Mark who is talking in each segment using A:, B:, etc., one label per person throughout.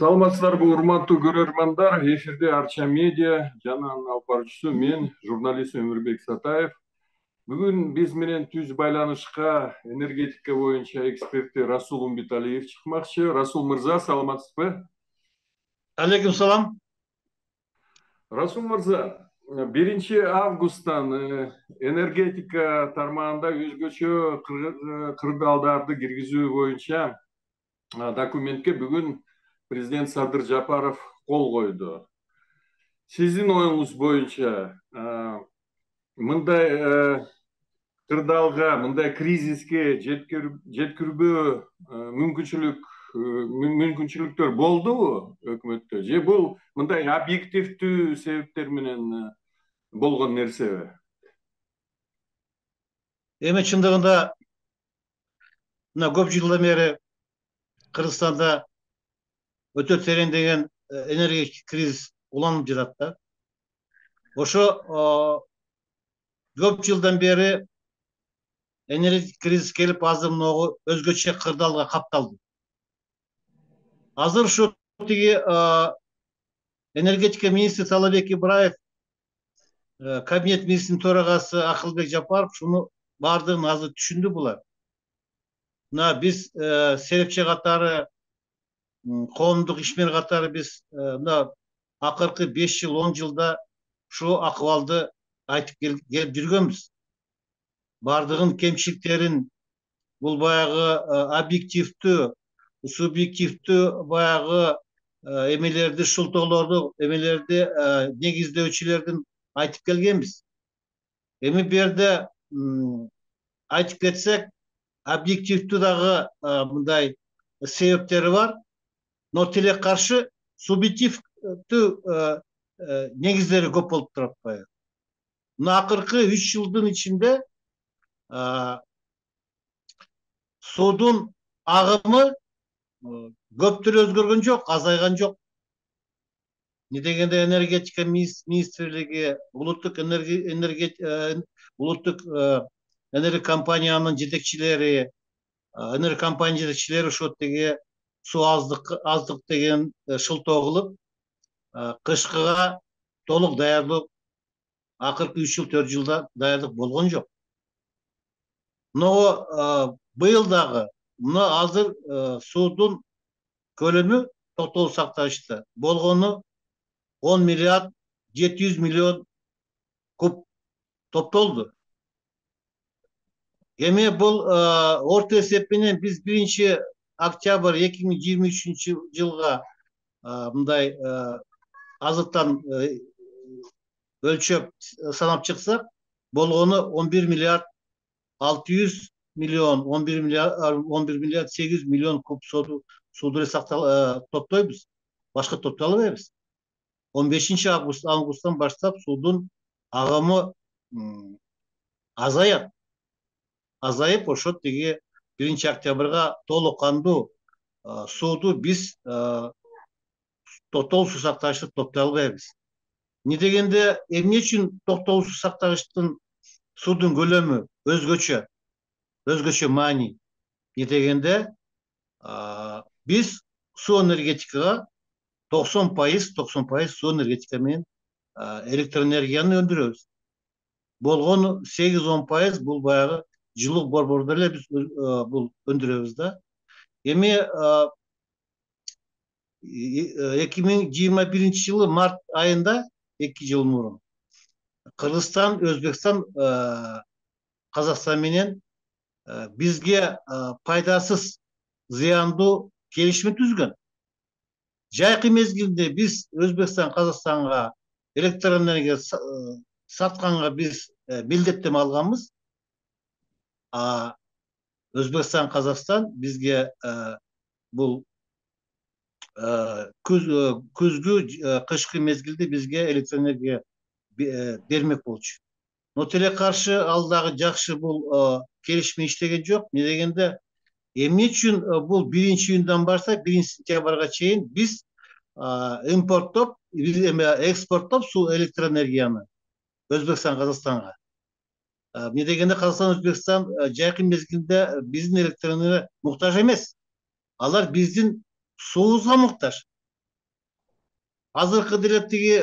A: Саламатсыздарбы, урматтуу көрөрмандар. Эфирде Арча медиа жана анын алып баруучусу мен, журналист Өмүрбек Сатаев. Бүгүн биз менен түз байланышка энергетика боюнча эксперти Расул Умбиталиев чыкмакчы. Расул мырза, саламатсызбы?
B: Алейкум салам.
A: Расул мырза, 1 августтан энергетика тармагында өзгөчө кырдаалдарды киргизүү боюнча документке бүгүн президент Садыр Жапаров кол койду. Сиздин оюңуз боюнча мындай кырдаалга, мындай кризиске жеткирбөө мүмкүнчүлүктөр болдубу өкмөттө? Же бул мындай объективдүү себептер менен болгон нерсеби?
B: Эми чындыгында мына көп жылдан бери Кыргызстанда өтө тереңдеген энергетик кризис уланып жатат да. Ошо көп жылдан бери энергетик кризис келип, азыр могу өзгөчө кырдаалга капталды. Азыр ушу тиги энергетика министри Талабек Ибраев, кабинет министринин төрагасы Акылбек Жапаров шуну баардыгын азыр түшүндү булар. Мына биз серепчи катары, коомдук ишмер катары биз мына акыркы 5 жыл 10 жылда ушул акыбалды айтып келип жүргөнбүз. Бардыгын кемчиликтерин, бул баягы объективдүү, субъективдүү баягы эмелерди, шылтоолорду, эмелерди негиздөөчүлөрдүн айтып келгенбиз. Эми бу жерде айтып кетсек, объективдүү дагы мындай себептери бар, но тилекке каршы субъективдүү негиздери көп болуп турат баягы. Мына акыркы 3 жылдын ичинде суудун агымы көптүрө өзгөргөн жок, азайган жок. Не дегенде энергетика министрлиги, улуттук энерго компаниянын жетекчилери, ошо тиги суу аздык деген шылтоо кылып, кышкыга толук даярдык акыркы 3 жыл 4 жылда даярдык болгон жок. Но быйыл дагы мына азыр суудун көлөмү токтогул сактагычта болгону 10 миллиард 700 миллион куб топтолду. Эми бул орто эсеп менен биз 1 октябрь 2023 жылга мындай азыртан өлчөп санап чыксак, болгону 11 миллиард 600 миллион, 11 миллиард 800 миллион куб сууду топтойбуз. Башка топтой албайбыз. 15 августтан баштап суудун агымы азаят. Азайып, ошо тиги 1 октябрга толук кандуу сууду биз токтогул суу сактагычта топтой албайбыз. Не дегенде эмне үчүн токтогул суу сактагычтын суудун көлөмү өзгөчө маани? Не дегенде биз суу энергетикага 90% суу энергетика менен электроэнергияны өндүрөбүз. Болгону 8-10% бул баягы жылуу борбордо эле биз бул өндүрөбүз да. Эми 2021 жылы март айында 2 жыл мурун Кыргызстан, Өзбекстан, Казакстан менен бизге пайдасыз, зыяндуу келишим түзгөн. Жайкы мезгилде биз Өзбекстан, Казакстанга электроэнергия сатканга биз милдеттеме алганбыз. Өзбекстан, Казакстан бизге бул күзгү, кышкы мезгилде бизге электроэнергия бермек болчу. Но тилекке каршы ал дагы жакшы бул келишим иштеген жок. Не дегенде эмне үчүн бул 1-июндан баштап 1 сентябрга чейин биз импорттоп, экспорттоп суу электроэнергияны Өзбекстан, Казакстанга. Не дегенде Казакстан, Өзбекстан жайкы мезгилде биздин электроэнергия муктаж эмес. Алар биздин суубузга муктаж. азыркы деле тиги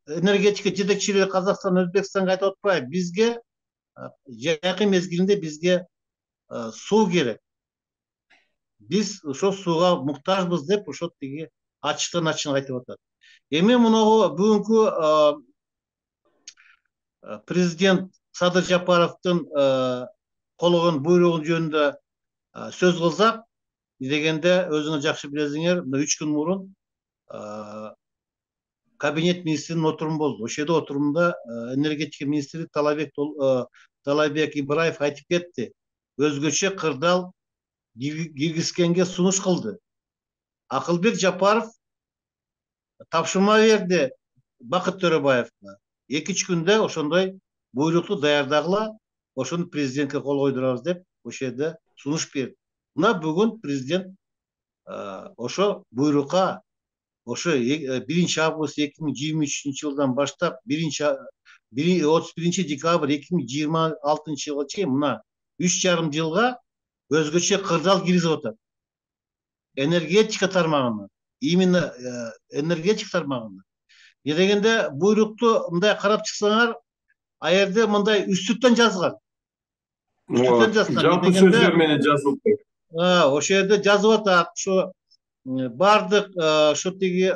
B: энергетика жетекчилери Казакстан, Өзбекстанга айтып атпайбы? Бизге жакын мезгилинде бизге суу керек. Биз ошол сууга муктажбыз деп ошо тиги ачыктан ачык айтып атат. Эми мунагу бүгүнкү президент Садыр Жапаровдун колгон буйругу жөнүндө сөз кылсак, дегенде өзүңөр жакшы билесиңер, 3 күн мурун кабинет министринин отуруму болду. Ошол жерде отурумда энергетика министри Талайбек Ибраев айтып кетти. Өзгөчө кырдаал киргизгенге сунуш кылды. Акылбек Жапаров тапшырма берди Бакыт Төрөбаевга. 2-3 күндө ошондой буйрукту даярдагыла, ошону президентке кол койдурабыз деп ошол жерде сунуш берди. Мына бүгүн президент ошо буйрукка ошо 1 август 2023 жылдан баштап 31 декабрь 2026 жылга чейин мына 3,5 жылга өзгөчө кырдаал киргизип атат. Энергетика тармагына, именно энергетика тармагына. Дегенде буйрукту мындай карап чыксаңар, а жерде мындай үстүртөн жазган.
A: Жалпы сөздөр менен жазылды.
B: Ошол жерде жазып атат, ошо бардык ошо тиги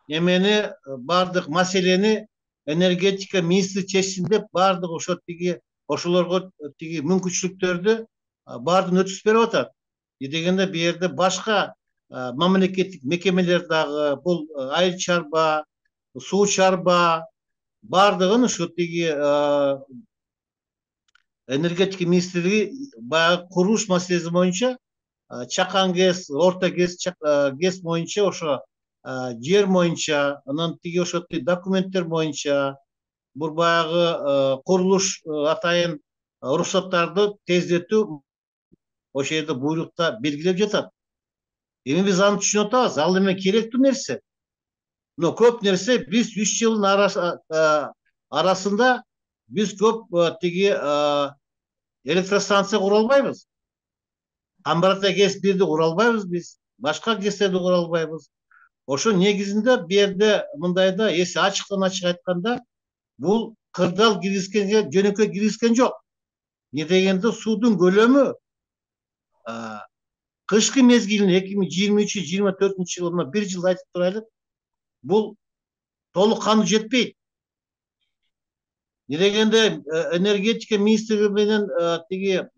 B: эмени, бардык маселени энергетика министри чечсин деп, бардык ошо тиги ошолорго тиги мүмкүнчүлүктөрдү баардыгын өтүп берип атат. Дегенде бу жерде башка мамлекеттик мекемелер дагы, бул айыл чарба, суу чарба баардыгын ошо тиги энергетика министрлиги баягы курулуш маселеси боюнча чакан ГЭС, орто ГЭС боюнча ошо жер боюнча, анан тиги ошо документтер боюнча бул баягы курулуш атайын уруксаттарды тездетүү ошол жерде буйрукта белгилеп жатат. Эми биз аны түшүнүп атабыз, ал эме керектүү нерсе. Но көп нерсе биз 3 жылдын арасында биз көп тиги электростанция кура албайбыз. Камбарата ГЭС-1ди кура албайбыз биз, башка ГЭСтерди кура албайбыз. Ошо негизинде бу жерде мындайда, эси ачыктан ачык айтканда, бул кырдаал киргизгенге жөнөкөй киргизген жок. Не дегенде суудун көлөмү кышкы мезгилинде 2023-2024 жылына 1 жыл айтып турайлык, бул толук кандуу жетпейт. Не дегенде энергетика министри менен тиги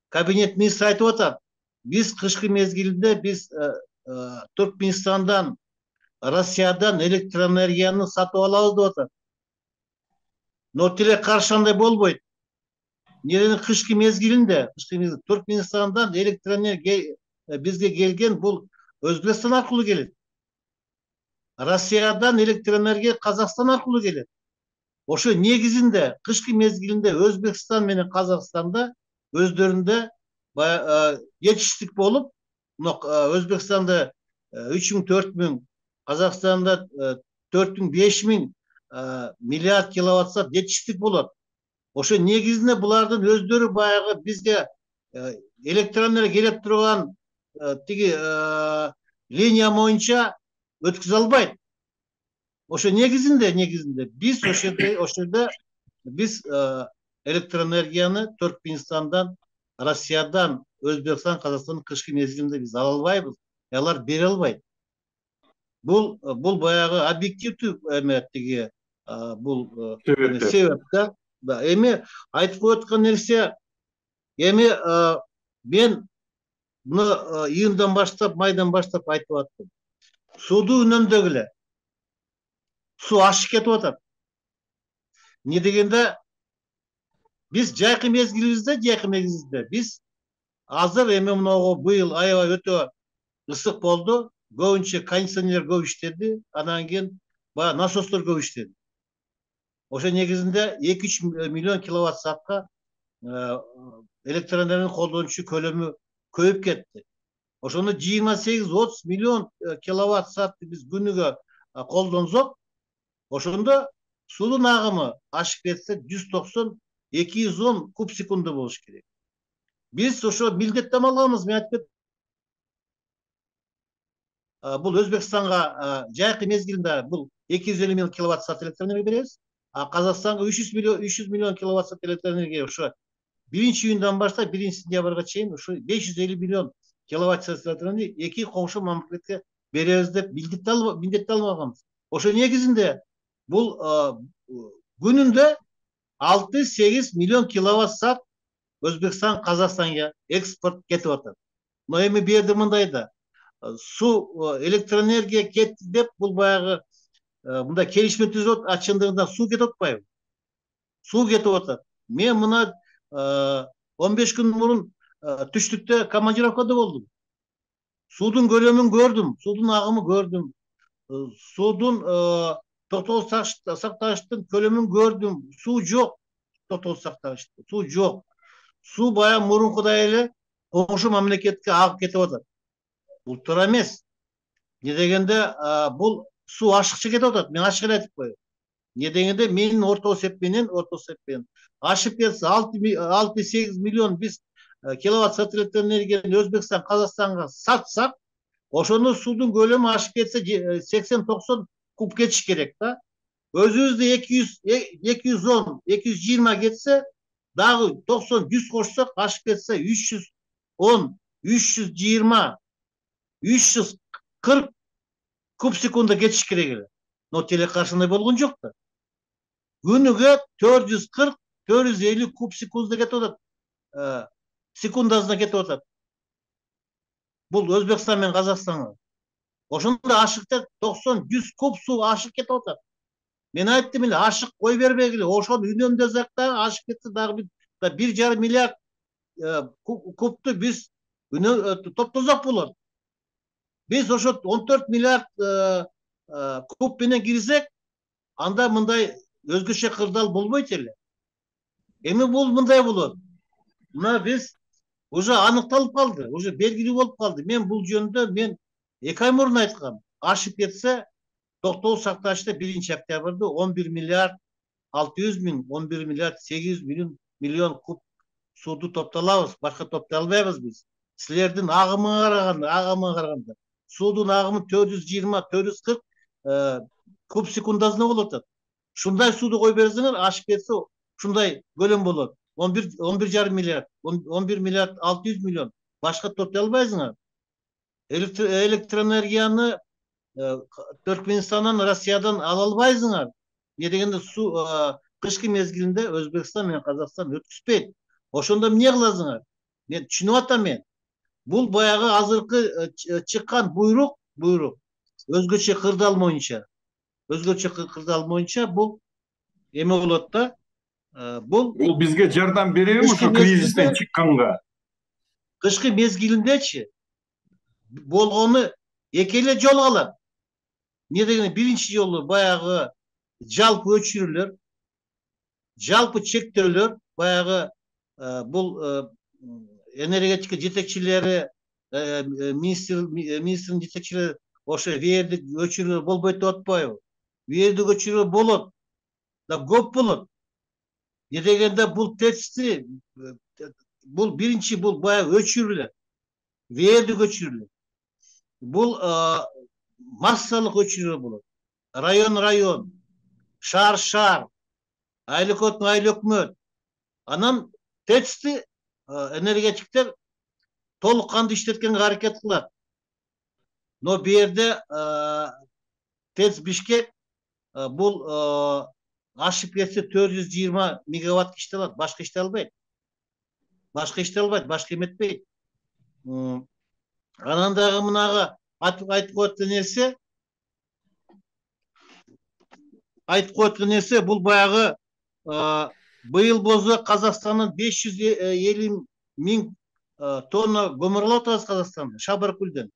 B: кабинет министри айтып атат. Биз кышкы мезгилинде биз Түркменистандан, Россиядан электроэнергияны сатып алабыз деп атат. Но тиле каршы андай болбойт. Неден кышкы мезгилинде Түркменистандан электроэнергия бизге келген бул Өзбекстан аркылуу келет. Россиядан электроэнергия Казакстан аркылуу келет. Ошо негизинде кышкы мезгилинде Өзбекстан менен Казакстанда өздөрүндө жетиштик болуп, Өзбекстанда 3000, 4000, Казакстанда 4000, 5000 миллиард киловатт саат жетиштик болот. Ошо негизинде булардын өздөрү баягы бизге электроэнергия келип турган тиги линия боюнча өткүзө албайт. Ошо негизинде биз ошол жерде биз электроэнергияны Түркменистандан, Россиядан, Өзбекстан, Казакстан кышкы мезгилинде биз ала албайбыз. Алар бере албайт. Бул баягы объективдүү эме тиги бул себеп да. Эми айтып коюп аткан нерсе, эми мен муну июндан баштап, майдан баштап айтып аттым. Сууду үнөмдөгүлө. Суу ашып кетип атат. Не дегенде биз жайкы мезгилибизде биз азыр эми мынагу быйыл аябай өтө ысык болду. Көбүнчө кондиционерлер көп иштеди, анан кийин баягы насостор көп иштеди. Ошо негизинде 2-3 миллион киловатт саатка электроэнергияны колдонуучу көлөмү көбөйүп кетти. Ошондо 28-30 миллион киловатт саатты биз күнүгө колдонсок, ошондо суудун агымы ашып кетсе 190-210 куб секунда болуш керек. Биз ошо милдеттенме алганбыз, мен айтып бул Өзбекстанга жайкы мезгилинде бул 250 миң киловатт саат электр энергия беребиз. Казакстанга 300 миллион киловатт саат электр энергия ошо 1-июндан баштап 1-сентябрга чейин ушу 550 миллион киловатт саат электр энергия эки коңшу мамлекетке беребиз деп милдеттеп алганбыз. Ошо негизинде бул күнүндө 6-8 миллион киловатт саат Өзбекстан Казакстанга экспорт кетип атат. Но эми бу жерде мындай да суу электр энергия кетти деп бул баягы мындай келишме түзүп атат, чындыгында суу кетип атпайбы? Суу кетип атат. Мен мына 15 күн мурун түштүктө командировкада болдум. Суудун көлөмүн көрдүм, суудун агымы көрдүм. Суудун токтогуз сактагычтын көлөмүн көрдүм. Суу жок. Токтогуз сактагычта суу жок. Суу баягы мурункудай эле коңшу мамлекетке агып кетип атат. Бул туура эмес. Не дегенде бул суу ашыкча кетип атат. Мен ачык эле айтып коеюн. Не дегенде менин орто эсепменен ашып кетсе 6-8 миллион биз киловатт саат электр энергияны Өзбекстан Казакстанга сатсак, ошондо суудун көлөмү ашып кетсе 80-90 куб кетиш керек да. Өзүбүздө 210, 220 кетсе, дагы 90-100 кошсок, ашып кетсе 310, 320, 340 куб секунда кетиш керек эле. Но телекаршында болгон жок да. Күнүгө 440-450 куб секунда кетип атат. Секундасына кетип атат. Бул Өзбекстан менен Казакстанга. Ошондо ашыкта 90-100 куб суу ашык кетип атат. Мен айттым эле, ашык кой бербегиле, ошону үнөмдөсөк дагы ашып кетсе дагы 1,5 миллиард кубту биз топтосок болот. Биз ошо 14 миллиард куб менен кирсек, анда мындай өзгөчө кырдаал болбойт эле. Эми бул мындай болот. Мына биз уже аныкталып калды, уже белгилүү болуп калды. Мен бул жөнүндө 2 ай мурун айткам. Ашып кетсе, токтогуз сактагычта 1-октябрда 11 миллиард 600 миң, 11 миллиард 800 миллион куб сууду топтолобуз. Башка топтой албайбыз биз. Силердин агымыңа караганда суудун агымы 420-440 куб секундасына болуп атат. Ушундай сууду кой берсеңер, ашып кетсе ушундай көлөм болот. 11,5 миллиард, 11 миллиард 600 миллион. Башка топтой албайсыңар. Электроэнергияны Түркменистандан, Россиядан ала албайсыңар. Не дегенде суу кышкы мезгилинде Өзбекстан менен Казакстан өткүзбөйт. Ошондо эмне кыласыңар? Мен түшүнүп атам мен. Бул баягы азыркы чыккан буйрук өзгөчө кырдаал боюнча. Бул эме болот да. Бул
A: бизге жардам береби ошо кризистен чыкканга?
B: Кышкы мезгилиндечи болгону эки эле жол калат. Не дегенде биринчи жолу баягы жалпы өчүрүүлөр, жалпы чектөөлөр, баягы бул энергетика жетекчилери, министрдин жетекчилери ошо вердик өчүрүү болбойт деп атпайбы? Вердик өчүрүү болот, да көп болот. Не дегенде бул ТЭЦти, бул биринчи бул баягы өчүрүүлөр, вердик өчүрүүлөр. Бул массалык өчүрүү болот. Район, шаар, айлөкмөт. Анан ТЭЦти энергетиктер толук кандуу иштеткенге аракет кылат. Но бу жерде ТЭЦ Бишкек бул ашып кетсе 420 мегаватт иштей алат, башка иштей албайт. Башка эметпейт. Анан дагы мынага айтып коюткан нерсе бул баягы быйыл болсо Казакстандын 550 миң тонна көмүр алып атабыз Казакстанда, Шабаркөлдөн.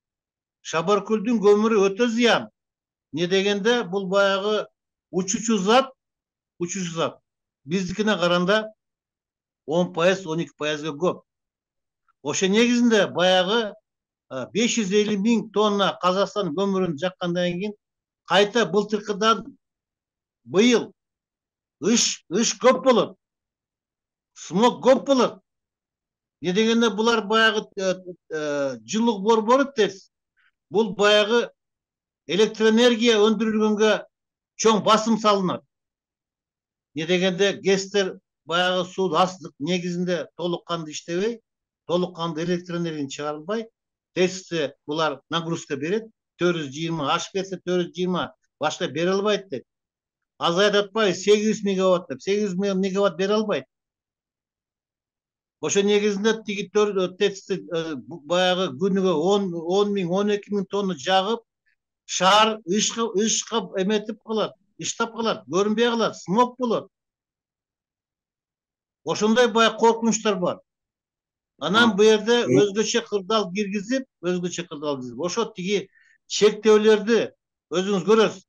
B: Шабаркөлдүн көмүрү өтө зыян. Не дегенде бул баягы учуучу зат. Биздикине караганда 10%, 12%га көп. Ошо негизинде баягы 550 миң тонна Казакстан көмүрүн жаккандан кийин кайта былтыркыдан быйыл ыш көп болот. Смог көп болот. Не дегенде булар баягы жылуулук борбору ТЭЦ. Бул баягы электроэнергия өндүрүлгөнгө чоң басым салынат. Не дегенде ГЭСтер баягы суу астык негизинде толук кандуу иштебей, толук кандуу электроэнергияны чыгарылбай, ТЭЦте булар нагрузка берет, 420 ашып кетсе 420 башка бере албайт деп. Азайып атпайбы 800 мегаватт деп, 800 мегаватт бере албайт. Ошо негизинде тиги ТЭЦти баягы күнүгө 10 миң, 12 миң тонна жагып, шаар ышка эметип калат, иштап калат, көрүнбөй калат, смог болот. Ошондой баягы коркунучтар бар. Анан бу жерде өзгөчө кырдаал киргизип, ошо тиги чектөөлөрдү өзүңүз көрөсүз.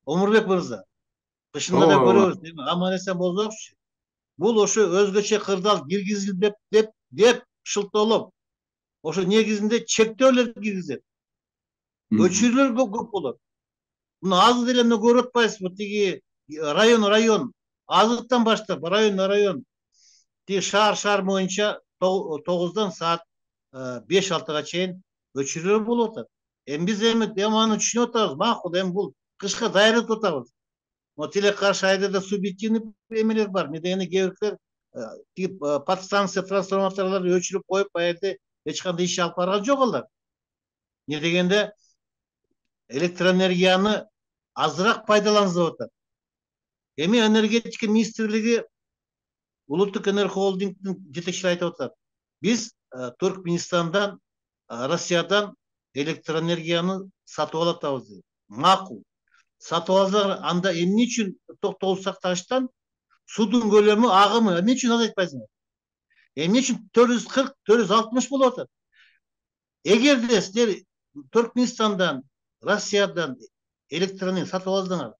B: Омурбек мырза, кышында да көрөбүз, аман эсен болсокчу. Бул ошо өзгөчө кырдаал киргизилди деп шылтоолоп, ошо негизинде чектөөлөр киргизет. Өчүрүүлөр көп болот. Муну азыр деле эмне көрүп атпайсызбы? Тиги район азыркытан баштап район тиги шаар боюнча 9-дан саат 5-6-га чейин өчүрүүлөр болуп атат. Биз аны түшүнүп атабыз, макул, бул кышка даярдап атабыз. Но тилекке каршы айда субъективный эмелер бар. Не дегенде кээ биркилер подстанция трансформаторлорду өчүрүп коюп, аерде эч кандай иш алып барган жок алар. Не дегенде электроэнергияны азыраак пайдаланыңыз деп атат. Энергетика министрлиги Улуттук энерго холдингдин жетекчилери айтып атат. Биз Түркменистандан, Россиядан электроэнергияны сатып алатабыз дейт. Макул. Сатып алсаңар, анда эмне үчүн токтогул сактагычтан суудун көлөмү, агымы эмне үчүн азайтпайсыңар? Эмне үчүн 440, 460 болуп атат? Эгерде силер Түркменистандан, Россиядан электроэнергия сатып алсаңар,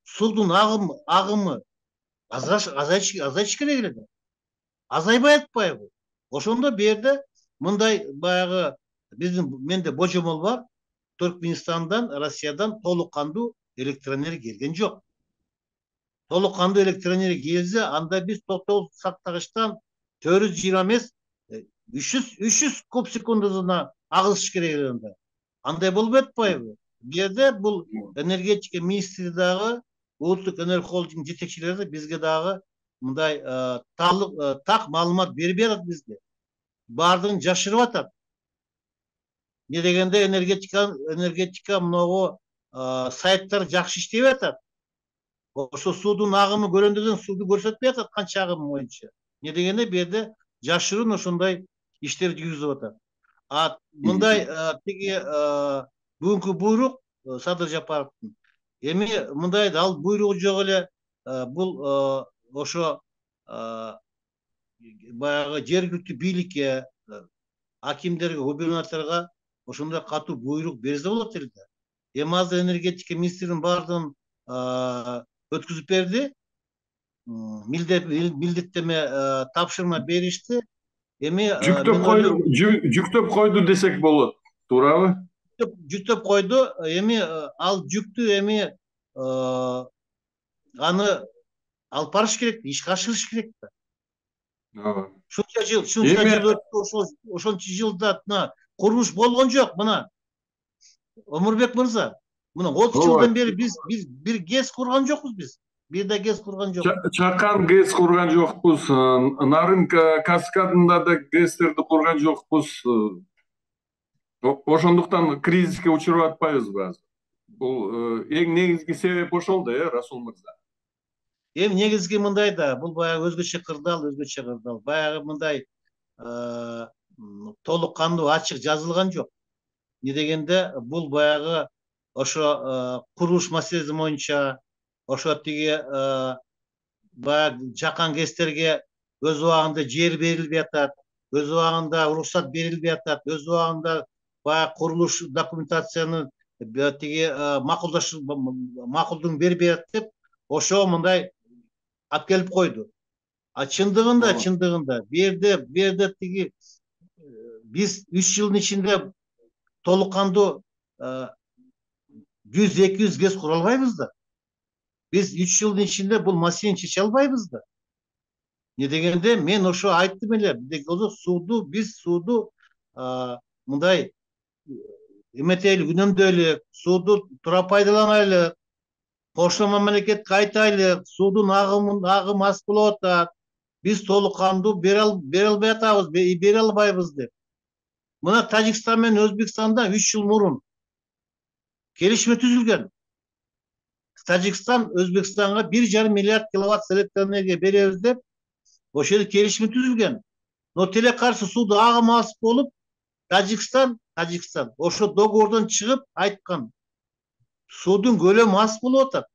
B: суудун агымы азайыш керек эле да. Азайбай атпайбы? Ошондо бу жерде мындай баягы менде божомол бар. Түркменистандан, Россиядан толук кандуу электроэнергия келген жок. Толук кандуу электроэнергия келсе, анда биз токтогул сактагычтан 420 эмес, 300 куб секундасына агызыш керек эле анда. Андай болбой атпайбы? Бу жерде бул энергетика министри дагы, Улуттук энерго холдинг жетекчилери бизге дагы мындай так маалымат бербей атат бизге. Баардыгын жашырып атат. Не дегенде энергетика могу сайттар жакшы иштебей атат. Ошо суудун агымы көрөндөрдөн сууду көрсөтпөй атат канча агым боюнча. Не дегенде бу жерде жашыруун ошондой иштер жүргүзүп атат. Мындай тиги бүгүнкү буйрук Садыр Жапаровдун мындай ал буйругу жок эле. Бул ошо баягы жергиликтүү бийликке, акимдерге, губернаторго ошондой катуу буйрук берсе болот эле да. Азыр энергетика министринин баардыгын өткүзүп берди. Милдеттеме тапшырма беришти.
A: Жүктөп койду десек болот, туурабы?
B: Жүктөп койду. Ал жүктү аны алып барыш керек, ишке ашырыш керек да. Шунча жыл өттү, ошончо жылда курулуш болгон жок. Мына Омурбек мырза, мына 30 жылдан бери биз бир ГЭС курган жокпуз биз. Бир да ГЭС курган жок.
A: Чакан ГЭС курган жокпуз. Нарын каскадында да ГЭСтерди курган жокпуз. Ошондуктан кризиске учуруп атпайбызбы азыр? Бул эң негизги себеп ошол да, Расул мырза.
B: Негизги мындай да, бул баягы өзгөчө кырдаал. Баягы мындай толук кандуу ачык жазылган жок. Не дегенде бул баягы ошо курулуш маселеси боюнча, ошо тиги баягы жакан ГЭСтерге өз убагында жер берилбей атат, өз убагында уруксат берилбей атат, өз убагында баягы курулуш документацияны тиги макулдугун бербей атат деп, ошо мындай алып келип койду. Чындыгында бу жерде тиги биз 3 жылдын ичинде толук кандуу 100-200 ГЭС кура албайбыз да. Биз 3 жылдын ичинде бул маселени чече албайбыз да. Не дегенде мен ошо айттым эле, биз сууду мындай эметели үнөмдөйлүк, сууду туура пайдаланайлык, кошмо мамлекетке айтайлык, суудун агымы аз болуп атат. Биз толук кандуу бере албай атабыз, бере албайбыз деп. Мына Тажикстан менен Өзбекстанда 3 жыл мурун келишме түзүлгөн. Тажикстан Өзбекстанга 1,5 миллиард киловатт электроэнергия беребиз деп ошол жерде келишме түзүлгөн. Но тилекке каршы сууду агымы аз болуп, Тажикстан ошо договордон чыгып айткан. Суудун көлөмү аз болуп атат.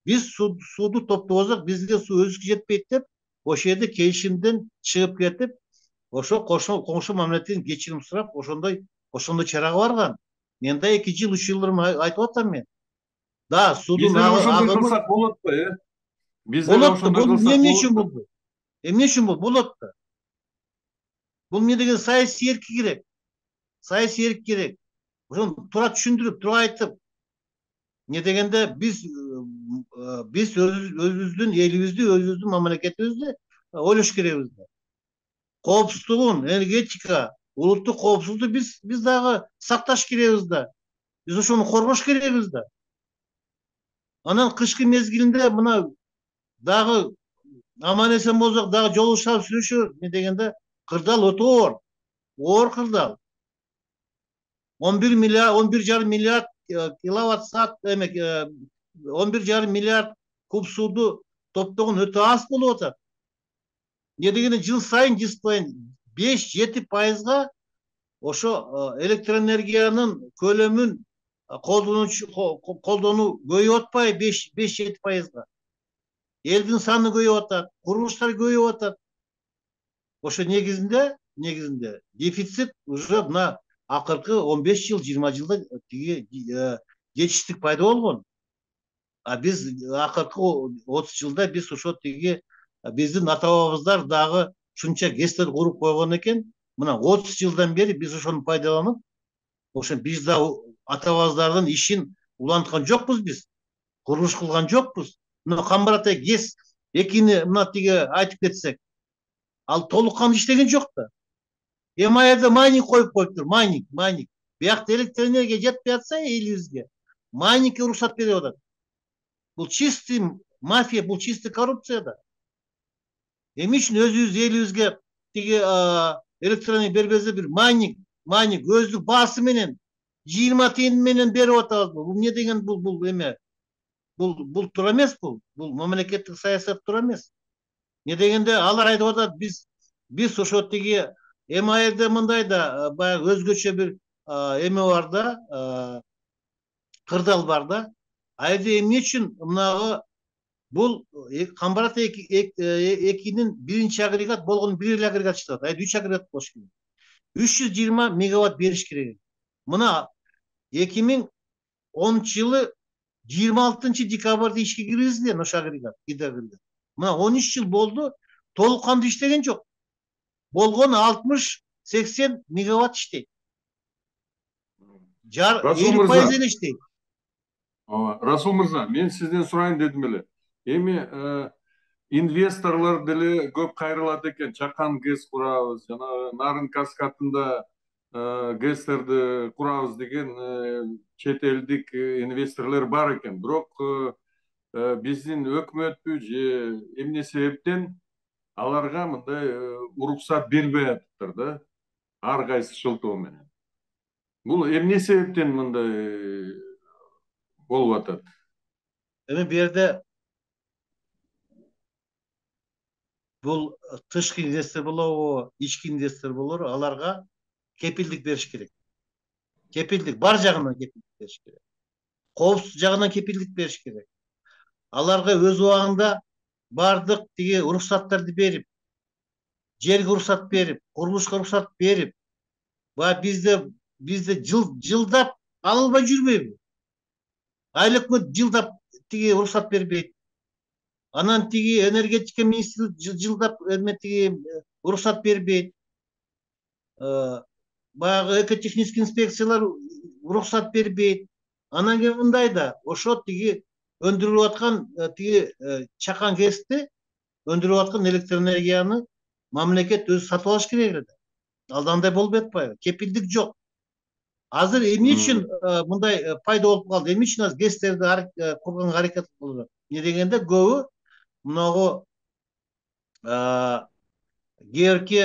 B: Биз сууду топтобосок, бизге суу өзүбүзгө жетпейт деп, ошол жерде келишимден чыгып кетип, ошо коңшу мамлекеттен кечирим сурап, ошондой чарага барган. Мен да 2 жыл 3 жылдыр айтып атам мен. Да, судун
A: Биз деле ошондой
B: агымы
A: кылсак болот да, Биз деле
B: болот да.
A: ошондой
B: Бул
A: кылсак
B: эмне үчүн
A: болот.
B: болду? Эмне үчүн болот да? Бул эмне деген саясий эрки керек. Саясий эрк керек. Ошону туура түшүндүрүп, туура айтып, эмне дегенде биз өзүбүздүн элибизди, өзүбүздүн мамлекетибизди ойлош керекбиз да. Коопсуздугун, энергетика, улуттук коопсуздукту биз дагы сакташ керекбиз да. Биз ошону коргош керекбиз да. Анан кышкы мезгилинде мына дагы аман эсен болсок дагы жолугушабыз, сүйлөшөбүз. Эмне дегенде кырдаал өтө оор кырдаал. 11,5 миллиард киловатт саат 11,5 миллиард куб сууду топтогон өтө аз болуп атат. Эмне дегенде жыл сайын 5-7% ошо электроэнергиянын көлөмүн колдонуу көбөйүп атпайбы? 5-7%. Элдин саны көбөйүп атат, курулуштар көбөйүп атат. Ошо негизинде дефицит уже мына акыркы 15 жыл, 20 жылда тиги жетиштик пайда болгон. А биз акыркы 30 жылда биз ошо тиги биздин ата бабабыздар дагы ушунча ГЭСтер куруп койгон экен. Мына 30 жылдан бери биз ошону пайдаланып, ошо биз да ата бабабыздардын ишин уланткан жокпуз биз. Курулуш кылган жокпуз. Мына Камбар-Ата ГЭС 2-ни мына тиги айтып кетсек, ал толук кандуу иштеген жок да. Эми аерде майнинг коюп коюптур, майнинг. Биякта электроэнергия жетпей атса элибизге, майнингке уруксат берип атат. Бул чистый мафия, бул чистый коррупция да. Эми үчүн өзүбүз элибизге тиги электроэнергия бербесе бир майнинг өздүк баасы менен 20 тиын менен берип атабыз. Бул эмне деген бул эме? Бул туура эмес бул. Бул мамлекеттик саясат туура эмес. Эмне дегенде алар айтып атат, биз ошо тиги эми аерде мындай да баягы өзгөчө бир эме бар да, кырдаал бар да. Аерде эмне үчүн мынагы бул Камбар-Ата 2-нин биринчи агрегат болгону бир эле агрегат иштеп атат. Аерде 3 агрегат болуш керек. 320 мегаватт бериш керек. Мына 2010-жылы 26-декабрда ишке киргизилген ошо агрегат, гидроагрегат. Мына 13 жыл болду, толук кандуу иштеген жок. Болгону 60-80 мегаватт иштейт. 50% эле иштейт.
A: Расул мырза, мен сизден сурайын дедим эле. Эми инвесторлор деле көп кайрылат экен. Чакан ГЭС курабыз, жана Нарын Каскадында ГЭСтерди курабыз деген чет элдик инвесторлор бар экен. Бирок биздин өкмөтпү же эмне себептен аларга мындай уруксат бербей атыптыр да, ар кайсы шылтоо менен. Бул эмне себептен мындай болуп атат?
B: Эми бу жерде бул тышкы инвестор болобу, ички инвестор болобу, аларга кепилдик бериш керек. Кепилдик бар жагынан кепилдик бериш керек. Коопсуз жагынан кепилдик бериш керек. Аларга өз убагында бардык тиги уруксаттарды берип, жерге уруксат берип, курулушка уруксат берип, баягы бизде жылдап ала албай жүрбөйбү? Айыл өкмөт жылдап тиги уруксат бербейт. Анан тиги энергетика министрлиги жылдап тиги уруксат бербейт. Баягы экотехнический инспекциялар уруксат бербейт. Анан кийин мындай да, ошо тиги өндүрүлүп аткан тиги чакан ГЭСти өндүрүп аткан электроэнергияны мамлекет өзү сатып алыш керек эле да. Ал андай болбой атпайбы? Кепилдик жок. Азыр эмне үчүн мындай пайда болуп калды? Эмне үчүн азыр ГЭСтерди курганга аракет кылып? Эмне дегенде көбү мынагу кээбирки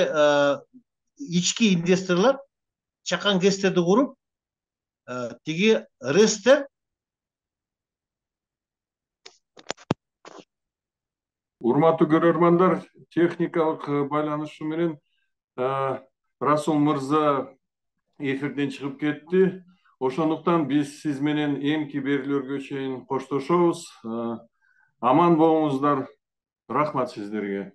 B: ички инвесторлор чакан ГЭСтерди куруп, тиги РЭСтер
A: Урматтуу көрөрмандар, техникалык байланышуу менен Расул мырза эфирден чыгып кетти. Ошондуктан биз сиз менен эмки берүүлөргө чейин коштошобуз. Аман болуңуздар. Рахмат сиздерге.